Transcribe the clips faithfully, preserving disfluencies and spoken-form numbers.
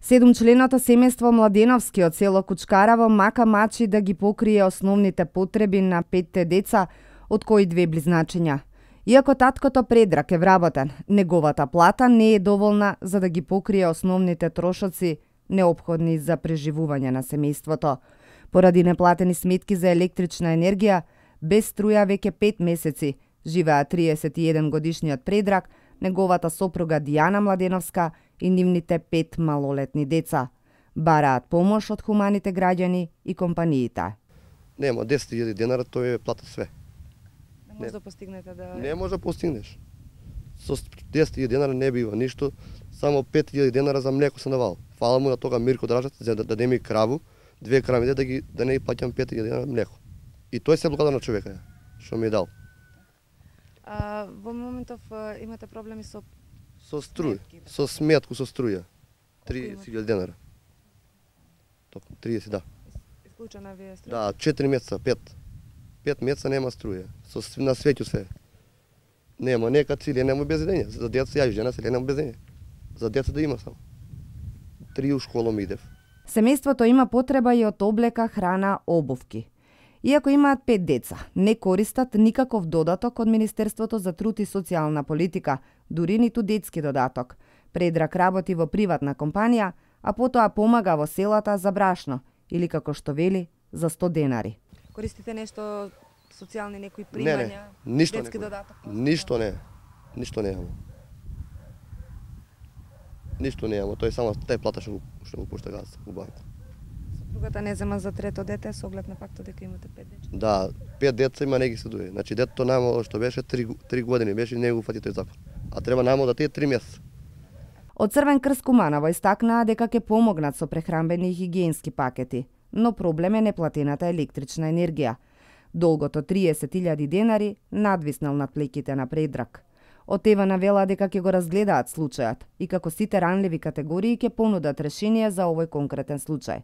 Седумчленото семејство Младеновски од село Кучкараво мака мачи да ги покрие основните потреби на петте деца, од кои две близначиња. Иако таткото Предрак е вработен, неговата плата не е доволна за да ги покрие основните трошоци неопходни за преживување на семејството. Поради неплатени сметки за електрична енергија, без струја веќе пет месеци живеа триесет и еден годишниот Предрак, неговата сопруга Дијана Младеновска и нивните пет малолетни деца. Бараат помош од хуманите граѓани и компаниите. Нема десет илјади денара, тој е плата све. Не може да постигнете да... Не може да постигнеш. Со десет илјади денара не бива ништо, само пет илјади денара за млеко се навал. Фала му на тога Мирко Дражат за да даде ми краву, две крави да ги да не ги плаќам пет илјади денара млеко. И тој се благодарна човека што ми е дал. А, во моментов имате проблеми со со струја, со сметку со струја. триесет илјади денара. Токму триесет, да. Исклучена ви е струја? Да, четири месеца, пет. Пет месеца нема струја. Со на светју се. Нема, нека цили, нема обезедење. За деца ја жена се нема обезедење. За деца да има само. Три у школа ми идев. Семејството има потреба и од облека, храна, обувки. Иако имаат пет деца, не користат никаков додаток од Министерството за труд и социјална политика, дури ниту детски додаток. Предрак работи во приватна компанија, а потоа помага во селата за брашно, или како што вели, за сто денари. Користите нешто социјални некои примања, не, не. Ништо детски не. додаток? Ништо не. Ништо не имам. Ништо не имам, тој само тај плата што што го пушта газ у банка. Сопругата не зема за трето дете со оглед на фактот дека имате пет деца? Да, пет деца има, не ги се дуе. Значи детето најмало што беше три години беше, не го фати тој закон. А треба најмало да тие три месеца. Од Црвен крст Куманово истакнаа дека ќе помогнат со прехранбени и хигиенски пакети, но проблем е неплатената електрична енергија. Долгото триесет илјади денари надвиснал над плеќите на Предрак. Од ЕВА навела дека ќе го разгледаат случајот и како сите ранливи категории ќе понудат решение за овој конкретен случај.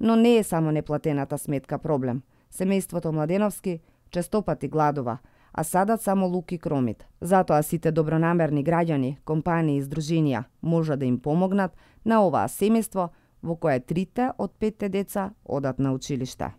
Но не е само неплатената сметка проблем. Семејството Младеновски честопати гладува, а садат само лук и кромит. Затоа сите добронамерни граѓани, компании и здруженија може да им помогнат на оваа семејство во кое трите од петте деца одат на училиште.